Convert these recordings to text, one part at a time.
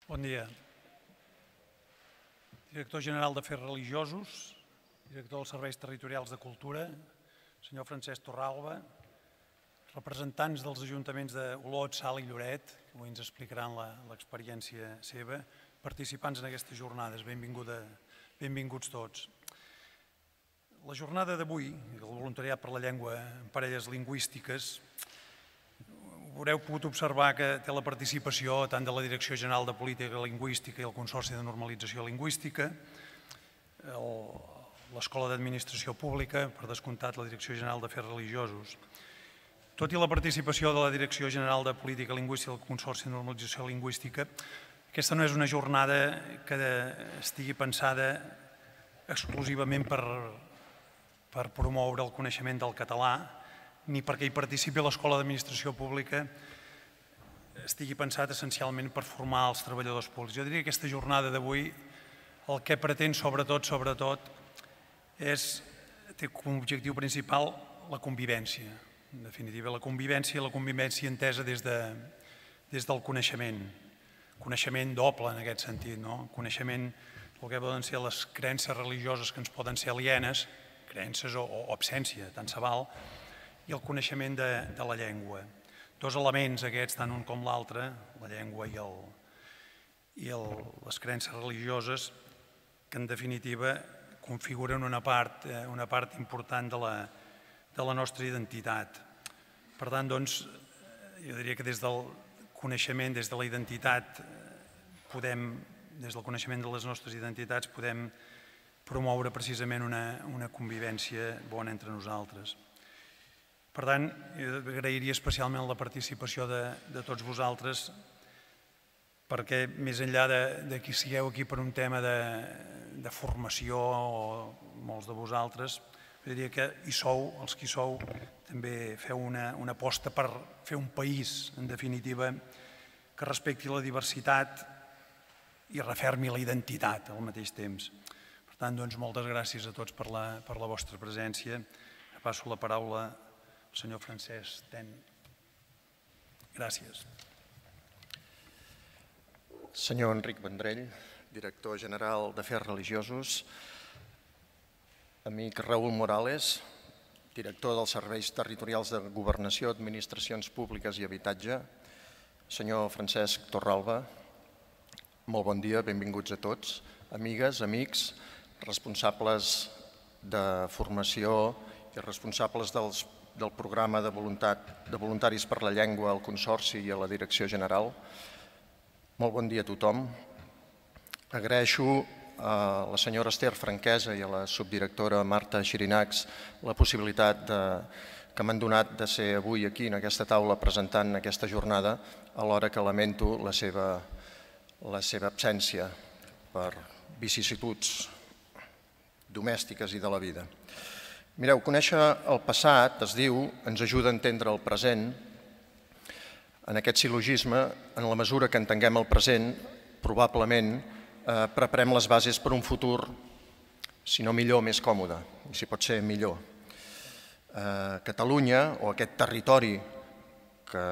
Bon dia. Director General d'Afers Religiosos, director dels Serveis Territorials de Cultura, senyor Francesc Torralba, representants dels ajuntaments d'Olot, Salt i Lloret, que avui ens explicaran l'experiència seva, participants en aquestes jornades, benvinguts tots. La jornada d'avui, el voluntariat per la llengua en parelles lingüístiques, haureu pogut observar que té la participació tant de la Direcció General de Política Lingüística i el Consorci de Normalització Lingüística, l'Escola d'Administració Pública, per descomptat la Direcció General d'Afers Religiosos. Tot i la participació de la Direcció General de Política Lingüística i el Consorci de Normalització Lingüística, aquesta no és una jornada que estigui pensada exclusivament per promoure el coneixement del català, ni perquè hi participi l'Escola d'Administració Pública estigui pensat essencialment per formar els treballadors públics. Jo diria que aquesta jornada d'avui el que pretén sobretot té com a objectiu principal la convivència. En definitiva, la convivència entesa des del coneixement. Coneixement doble en aquest sentit, no? Coneixement del que poden ser les creences religioses que ens poden ser alienes, creences o absència, tant se val, i el coneixement de la llengua. Dos elements aquests, tant un com l'altre, la llengua i les creences religioses, que en definitiva configuren una part important de la nostra identitat. Per tant, doncs, jo diria que des del coneixement, des de la identitat, des del coneixement de les nostres identitats podem promoure precisament una convivència bona entre nosaltres. Per tant, agrairia especialment la participació de tots vosaltres perquè més enllà de qui sigueu aquí per un tema de formació o molts de vosaltres, diria que hi sou, els que hi sou, també feu una aposta per fer un país, en definitiva, que respecti la diversitat i refermi la identitat al mateix temps. Per tant, doncs, moltes gràcies a tots per la vostra presència. Passo la paraula al senyor Francesc Ten. Gràcies. Senyor Enric Vendrell, director general d'Afers Religiosos. Amic Raül Morales, director dels Serveis Territorials de Governació, Administracions Públiques i Habitatge. Senyor Francesc Torralba, molt bon dia, benvinguts a tots. Amigues, amics, responsables de formació i responsables del programa de voluntaris per la llengua al Consorci i a la Direcció General. Molt bon dia a tothom. Agraeixo a la senyora Esther Franquesa i a la subdirectora Marta Xirinacs la possibilitat que m'han donat de ser avui aquí en aquesta taula presentant aquesta jornada, alhora que lamento la seva absència per vicissituds domèstiques i de la vida. Mireu, conèixer el passat, es diu, ens ajuda a entendre el present. En aquest sil·logisme, en la mesura que entenguem el present, probablement preparem les bases per un futur, si no millor, més còmode, i si pot ser millor. Catalunya, o aquest territori que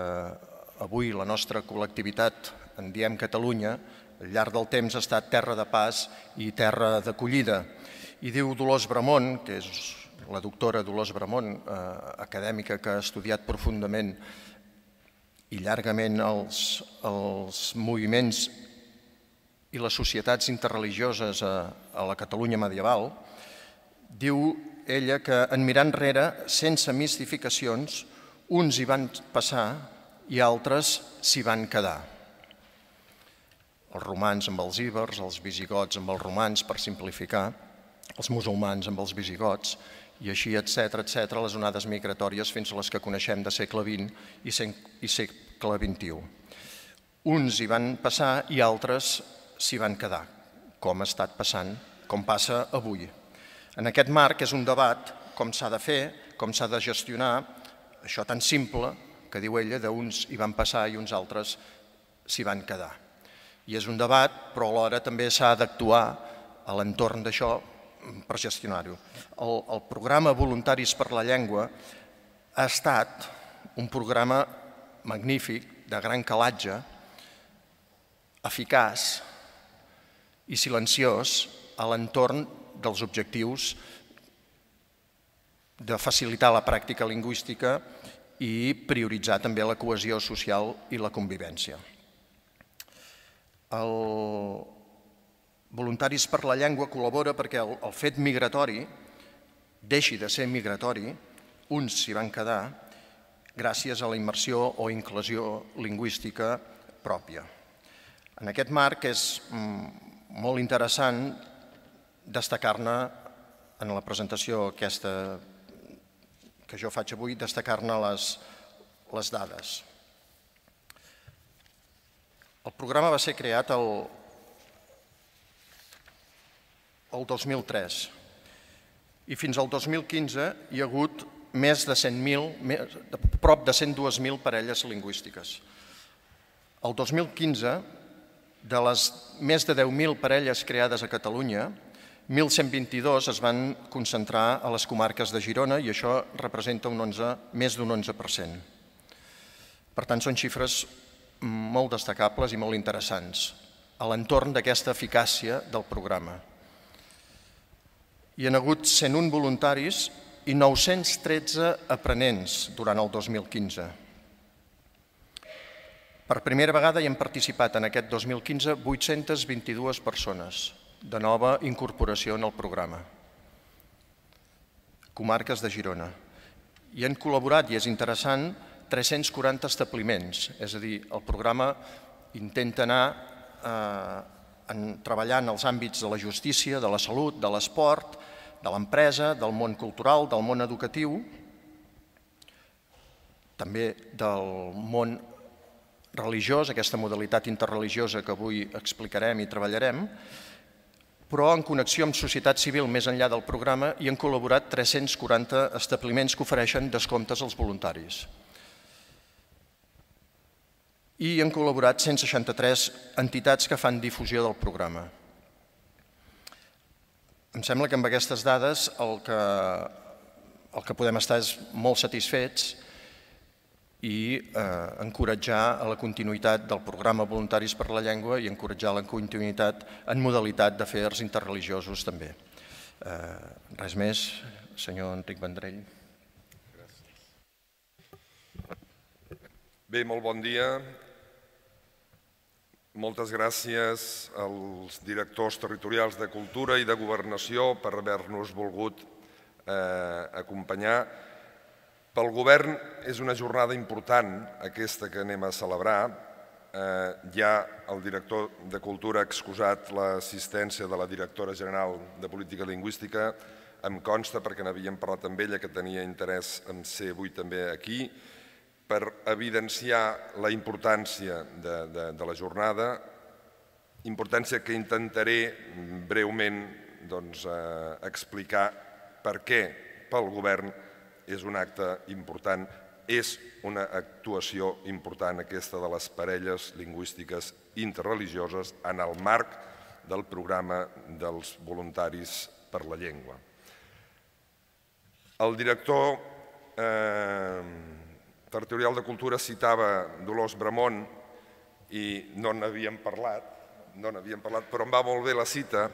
avui la nostra col·lectivitat en diem Catalunya, al llarg del temps ha estat terra de pas i terra d'acollida. I diu Dolors Bramont, que és la doctora Dolors Bramont, acadèmica que ha estudiat profundament i llargament els moviments i les societats interreligioses a la Catalunya medieval, diu ella que en mirar enrere, sense mistificacions, uns hi van passar i altres s'hi van quedar. Els romans amb els íbers, els visigots amb els romans, per simplificar, els musulmans amb els visigots, i així, etc., les onades migratòries fins a les que coneixem de segle XX i segle XXI. Uns hi van passar i altres s'hi van quedar, com ha estat passant, com passa avui. En aquest marc és un debat com s'ha de fer, com s'ha de gestionar, això tan simple que diu ella, d'uns hi van passar i uns altres s'hi van quedar. I és un debat, però alhora també s'ha d'actuar a l'entorn d'això per gestionar-ho. El programa Voluntaris per la Llengua ha estat un programa magnífic, de gran calatge, eficaç i silenciós a l'entorn dels objectius de facilitar la pràctica lingüística i prioritzar també la cohesió social i la convivència. El Voluntaris per la Llengua col·labora perquè el fet migratori deixi de ser migratori, uns s'hi van quedar, gràcies a la immersió o inclusió lingüística pròpia. En aquest marc és molt interessant destacar-ne, en la presentació aquesta que jo faig avui, destacar-ne les dades. El programa va ser creat el 2003 i fins al 2015 hi ha hagut més de 100.000, prop de 102.000 parelles lingüístiques. El 2015, de les més de 10.000 parelles creades a Catalunya, 1.122 es van concentrar a les comarques de Girona i això representa més d'un 11%. Per tant, són xifres molt destacables i molt interessants a l'entorn d'aquesta eficàcia del programa. Hi ha hagut 101 voluntaris i 913 aprenents durant el 2015. Per primera vegada hi han participat en aquest 2015 822 persones de nova incorporació en el programa. Comarques de Girona. Hi han col·laborat, i és interessant, 340 establiments, és a dir, el programa intenta anar treballant els àmbits de la justícia, de la salut, de l'esport, de l'empresa, del món cultural, del món educatiu, també del món religiós, aquesta modalitat interreligiosa que avui explicarem i treballarem, però en connexió amb societat civil més enllà del programa hi han col·laborat 340 establiments que ofereixen descomptes als voluntaris. I hi han col·laborat 163 entitats que fan difusió del programa. Em sembla que amb aquestes dades el que podem estar és molt satisfets i encoratjar a la continuïtat del programa Voluntaris per la Llengua i encoratjar la continuïtat en modalitat d'afers interreligiosos també. Res més, senyor Enric Vendrell. Bé, molt bon dia. Moltes gràcies als directors territorials de Cultura i de Governació per haver-nos volgut acompanyar. Pel govern és una jornada important aquesta que anem a celebrar. Ja el director de Cultura ha excusat l'assistència de la directora general de Política Lingüística. Em consta, perquè n'havíem parlat amb ella, que tenia interès en ser avui també aquí, per evidenciar la importància de la jornada, importància que intentaré breument explicar per què pel govern és un acte important, és una actuació important aquesta de les parelles lingüístiques interreligioses en el marc del programa dels Voluntaris per la Llengua. El director territorial de Cultura citava Dolors Bramont i no n'havíem parlat, però em va molt bé la cita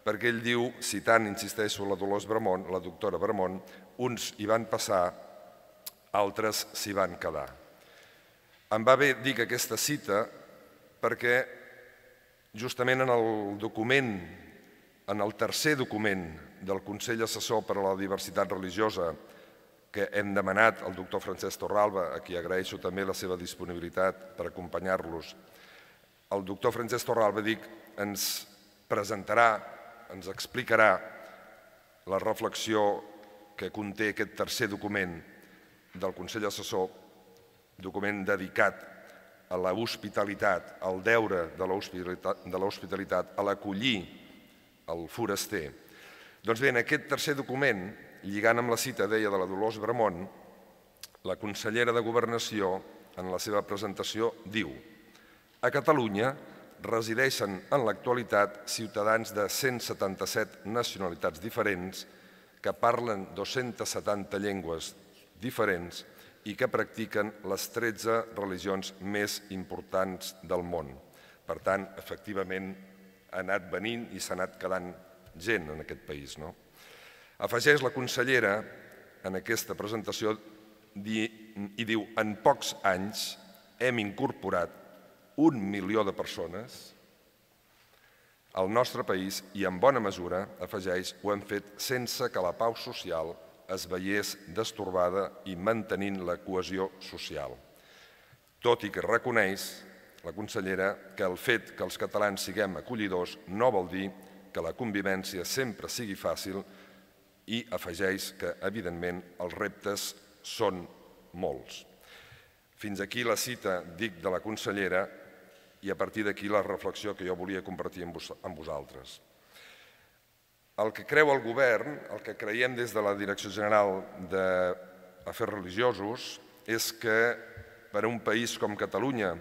perquè ell diu, citant, insisteixo, la Dolors Bramont, la doctora Bramont, uns hi van passar, altres s'hi van quedar. Em va bé dir aquesta cita perquè justament en el document, en el tercer document del Consell Assessor per a la Diversitat Religiosa que hem demanat al doctor Francesc Torralba, a qui agraeixo també la seva disponibilitat per acompanyar-los. El doctor Francesc Torralba, ens presentarà, ens explicarà la reflexió que conté aquest tercer document del Consell Assessor, document dedicat a l'hospitalitat, al deure de l'hospitalitat, a l'acollir el foraster. Doncs bé, en aquest tercer document, lligant amb la cita, deia, de la Dolors Bramont, la consellera de Governació, en la seva presentació, diu: a Catalunya resideixen en l'actualitat ciutadans de 177 nacionalitats diferents que parlen 270 llengües diferents i que practiquen les 13 religions més importants del món. Per tant, efectivament, ha anat venint i s'ha anat quedant gent en aquest país. Afegeix la consellera en aquesta presentació i diu: en pocs anys hem incorporat 1 milió de persones al nostre país i en bona mesura, afegeix, ho hem fet sense que la pau social es veiés destorbada i mantenint la cohesió social. Tot i que reconeix la consellera que el fet que els catalans siguem acollidors no vol dir que la convivència sempre sigui fàcil i afegeix que, evidentment, els reptes són molts. Fins aquí la cita, dic, de la consellera i a partir d'aquí la reflexió que jo volia compartir amb vosaltres. El que creu el govern, el que creiem des de la Direcció General d'Afers Religiosos, és que per a un país com Catalunya,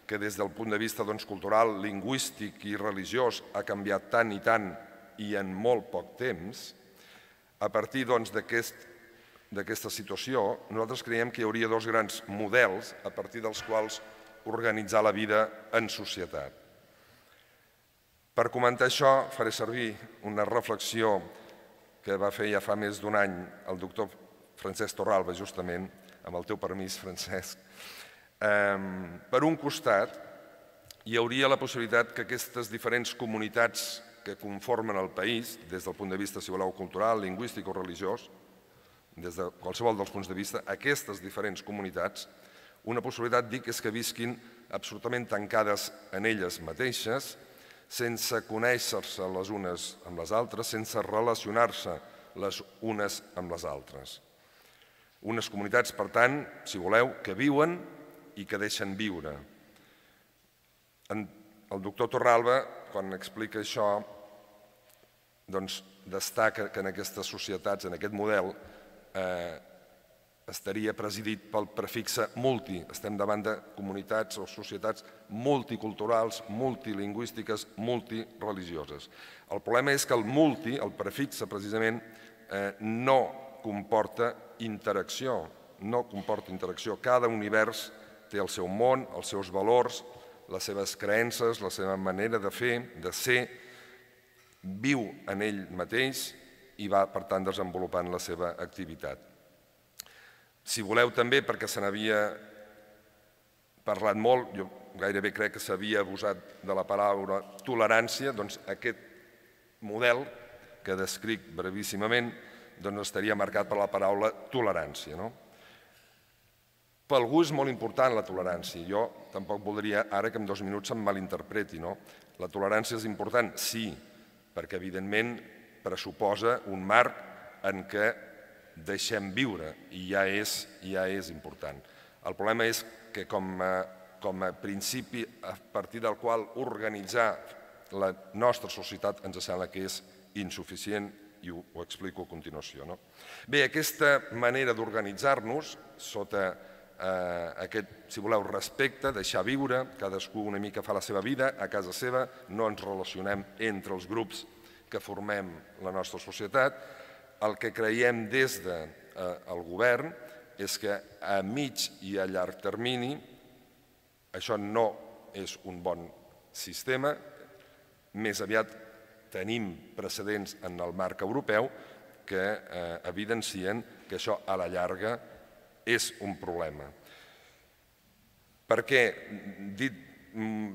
que des del punt de vista cultural, lingüístic i religiós ha canviat tant i tant i en molt poc temps, a partir d'aquesta situació, nosaltres creiem que hi hauria dos grans models a partir dels quals organitzar la vida en societat. Per comentar això, faré servir una reflexió que va fer ja fa més d'un any el doctor Francesc Torralba, justament, amb el teu permís, Francesc. Per un costat, hi hauria la possibilitat que aquestes diferents comunitats que conformen el país, des del punt de vista, si voleu, cultural, lingüístic o religiós, des de qualsevol dels punts de vista, aquestes diferents comunitats, una possibilitat, dic, és que visquin absolutament tancades en elles mateixes, sense conèixer-se les unes amb les altres, sense relacionar-se les unes amb les altres. Unes comunitats, per tant, si voleu, que viuen i que deixen viure. El doctor Torralba, quan explica això, destaca que en aquestes societats, en aquest model, estaria presidit pel prefixe multi. Estem davant de comunitats o societats multiculturals, multilingüístiques, multireligioses. El problema és que el multi, el prefixe precisament, no comporta interacció. No comporta interacció. Cada univers té el seu món, els seus valors, les seves creences, la seva manera de fer, de ser, viu en ell mateix i va, per tant, desenvolupant la seva activitat. Si voleu també, perquè se n'havia parlat molt, jo gairebé crec que s'havia abusat de la paraula tolerància, doncs aquest model que descric brevíssimament estaria marcat per la paraula tolerància. Per algú és molt important la tolerància. Jo tampoc voldria ara que en 2 minuts se'm malinterpreti. La tolerància és important, sí, perquè evidentment pressuposa un marc en què deixem viure i ja és important. El problema és que com a principi a partir del qual organitzar la nostra societat ens sembla que és insuficient i ho explico a continuació. Bé, aquesta manera d'organitzar-nos sota aquest, si voleu, respecte, deixar viure, cadascú una mica fa la seva vida a casa seva, no ens relacionem entre els grups que formem la nostra societat. El que creiem des del govern és que a mig i a llarg termini això no és un bon sistema, més aviat tenim precedents en el marc europeu que evidencien que això a la llarga és un problema. Per què? Dit,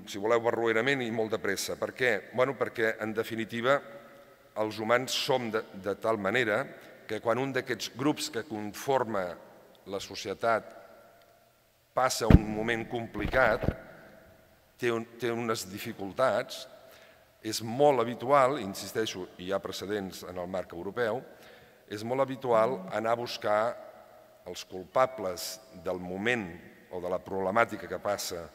si voleu, barroerament i molt de pressa. Per què? Perquè, en definitiva, els humans som de tal manera que quan un d'aquests grups que conforma la societat passa un moment complicat, té unes dificultats, és molt habitual, insisteixo, i hi ha precedents en el marc europeu, és molt habitual anar a buscar els culpables del moment o de la problemàtica que passa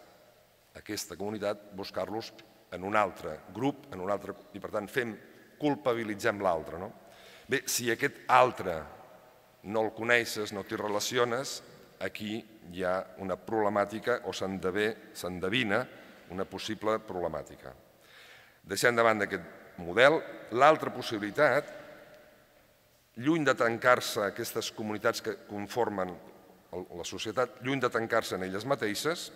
aquesta comunitat, buscar-los en un altre grup, i per tant culpabilitzem l'altre. Bé, si aquest altre no el coneixes, no t'hi relaciones, aquí hi ha una problemàtica o s'endevina una possible problemàtica. Deixant de banda aquest model, l'altra possibilitat, lluny de tancar-se aquestes comunitats que conformen la societat, lluny de tancar-se en elles mateixes,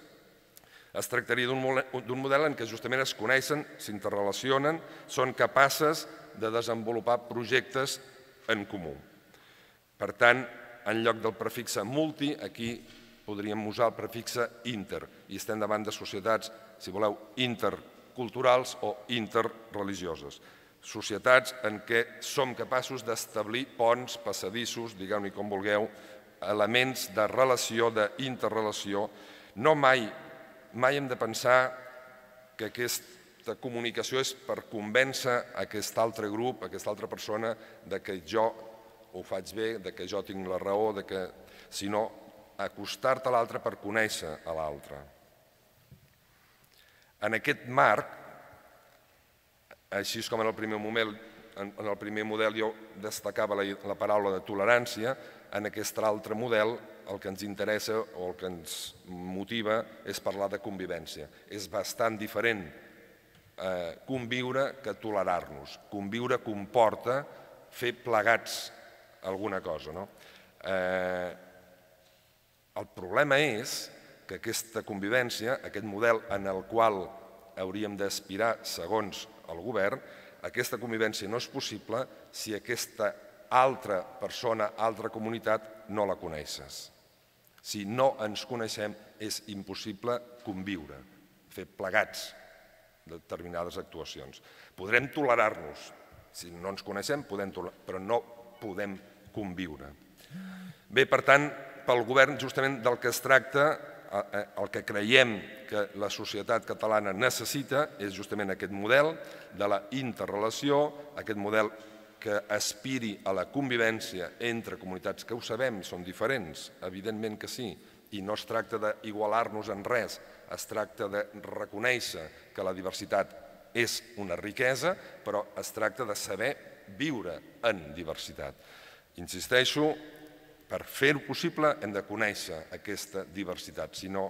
Es tractaria d'un model en què justament es coneixen, s'interrelacionen, són capaces de desenvolupar projectes en comú. Per tant, en lloc del prefixe multi, aquí podríem usar el prefixe inter, i estem davant de societats, si voleu, interculturals o interreligioses. Societats en què som capaços d'establir ponts, passadissos, digueu-ne com vulgueu, elements de relació, d'interrelació. No mai hem de pensar que aquesta comunicació és per convèncer aquest altre grup, aquesta altra persona, que jo ho faig bé, que jo tinc la raó, sinó acostar-te a l'altre per conèixer a l'altre. En aquest marc, així com en el primer model jo destacava la paraula de tolerància, en aquest altre model el que ens interessa o el que ens motiva és parlar de convivència. És bastant diferent conviure que tolerar-nos. Conviure comporta fer plegats alguna cosa. El problema és que aquesta convivència, aquest model en el qual hauríem d'aspirar segons el govern, aquesta convivència no és possible si aquesta altra persona, altra comunitat, no la coneixes. Si no ens coneixem, és impossible conviure, fer plegats determinades actuacions. Podrem tolerar-nos, si no ens coneixem, però no podem conviure. Bé, per tant, pel govern justament del que es tracta, el que creiem que la societat catalana necessita és justament aquest model de la interrelació, aquest model que aspiri a la convivència entre comunitats que ho sabem, són diferents, evidentment que sí, i no es tracta d'igualar-nos en res, es tracta de reconèixer que la diversitat és una riquesa, però es tracta de saber viure en diversitat. Insisteixo, per fer-ho possible hem de conèixer aquesta diversitat, si no,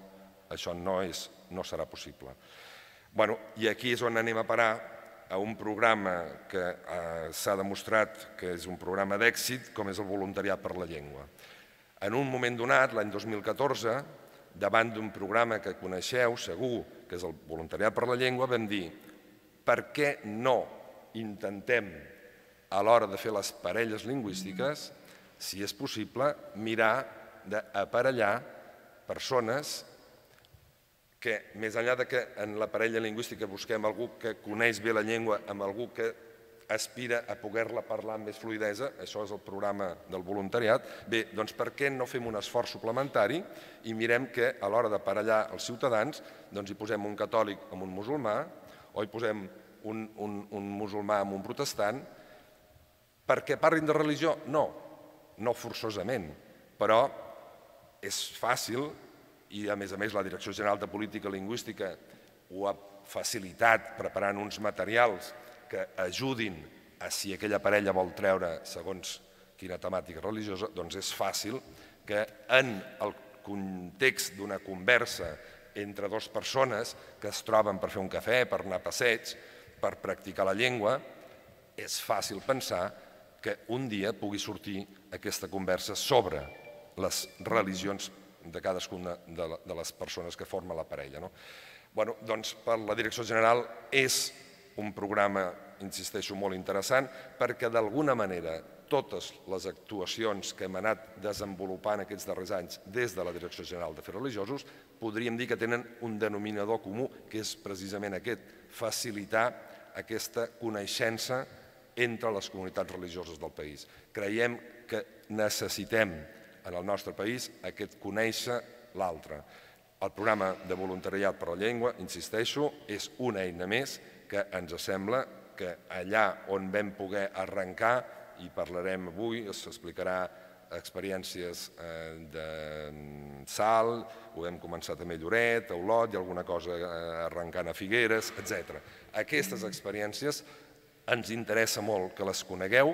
això no serà possible. I aquí és on anem a parar, a un programa que s'ha demostrat que és un programa d'èxit, com és el Voluntariat per la Llengua. En un moment donat, l'any 2014, davant d'un programa que coneixeu, segur, que és el Voluntariat per la Llengua, vam dir per què no intentem, a l'hora de fer les parelles lingüístiques, si és possible, mirar d'aparellar persones que, més enllà que en la parella lingüística busquem algú que coneix bé la llengua amb algú que aspira a poder-la parlar amb més fluïdesa, això és el programa del voluntariat, bé, doncs per què no fem un esforç suplementari i mirem que a l'hora d'aparellar els ciutadans doncs hi posem un catòlic amb un musulmà o hi posem un musulmà amb un protestant perquè parlin de religió? No forçosament, però és fàcil i a més la Direcció General de Política Lingüística ho ha facilitat preparant uns materials que ajudin a si aquella parella vol treure segons quina temàtica religiosa, doncs és fàcil que en el context d'una conversa entre dues persones que es troben per fer un cafè, per anar a passeig, per practicar la llengua, és fàcil pensar que un dia pugui sortir aquesta conversa sobre les religions de cadascuna de les persones que formen la parella. Doncs per la Direcció General és un programa, insisteixo, molt interessant perquè d'alguna manera totes les actuacions que hem anat desenvolupant aquests darrers anys des de la Direcció General d'Afers Religiosos podríem dir que tenen un denominador comú que és precisament aquest, facilitar aquesta coneixença entre les comunitats religioses del país. Creiem que necessitem en el nostre país aquest conèixer l'altre. El programa de voluntariat per la llengua, insisteixo, és una eina més que ens sembla que allà on vam poder arrencar, i parlarem avui, s'explicarà experiències de Salt, ho vam començar també a Lloret, a Olot, i alguna cosa arrencant a Figueres, etc. Aquestes experiències ens interessa molt que les conegueu.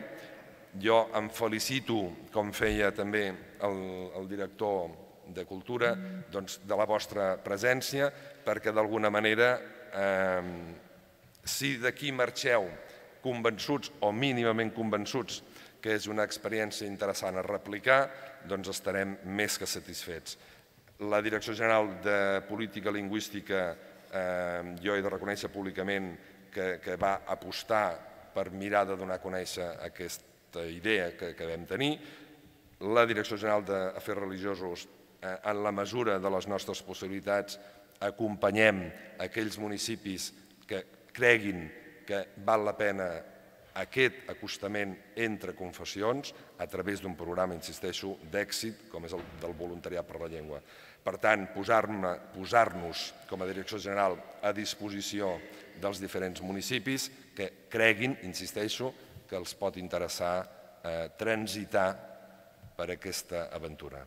Jo em felicito, com feia també el director de Cultura, de la vostra presència, perquè d'alguna manera, si d'aquí marxeu convençuts o mínimament convençuts que és una experiència interessant a replicar, doncs estarem més que satisfets. La Direcció General de Política Lingüística, jo he de reconèixer públicament que va apostar per mirar de donar a conèixer aquesta idea que vam tenir. La Direcció General d'Afers Religiosos, en la mesura de les nostres possibilitats, acompanyem aquells municipis que creguin que val la pena aquest acostament entre confessions a través d'un programa, insisteixo, d'èxit, com és el del voluntariat per la llengua. Per tant, posar-nos com a Direcció General a disposició dels diferents municipis que creguin, insisteixo, que els pot interessar transitar per aquesta aventura.